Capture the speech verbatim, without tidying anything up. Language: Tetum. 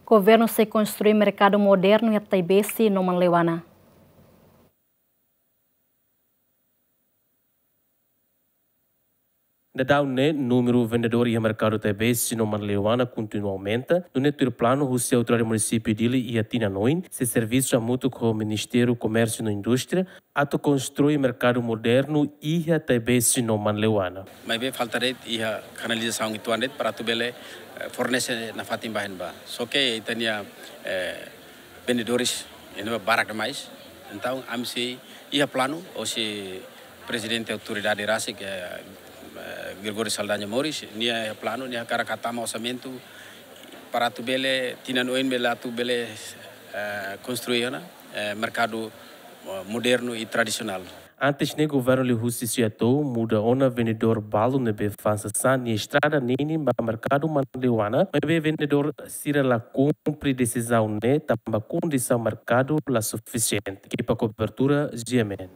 Governu sei konstrui merkadu modernu iha Taibesi no Manleuana. Daudaun ne'e, númeru vendedór iha merkadu Taibesi no Manleuana kontinua aumenta, nune'e tuir planu husi autoridade munisípiu Dili iha tinan oin, sei servisu hamutuk ho Ministériu Komérsiu no Indústria, atu konstrui merkadu modernu iha Taibesi no Manleuana. Maibé falta de'it iha kanalizasaun uitoan de'it para atu bele, eh, fornese nafatin ba iha ne'ebá. Só ke ita-nia, eh, vendedores iha ne'ebá barak demais. Entaun, ami sei iha planu, hosi Prezidente Autoridade rasik, eh, eh, Gregório Saldanha Moris, nia iha planu, nia hakarak hatama orsamentu para atu bele, tinan oin bele atu bele, eh, konstrui ona, eh, merkadu, eh, modernu i tradisionál. Antes ne'e governu liuhusi SEATOU muda ona vendedór balu ne'ebé fa'an sasán iha estrada ninin ba merkadu Manleuana, maibé vendedór sira la kumpre desizaun ne'e tanba kondisaun merkadu la sufisiente. Ekipa kobertura, G M N.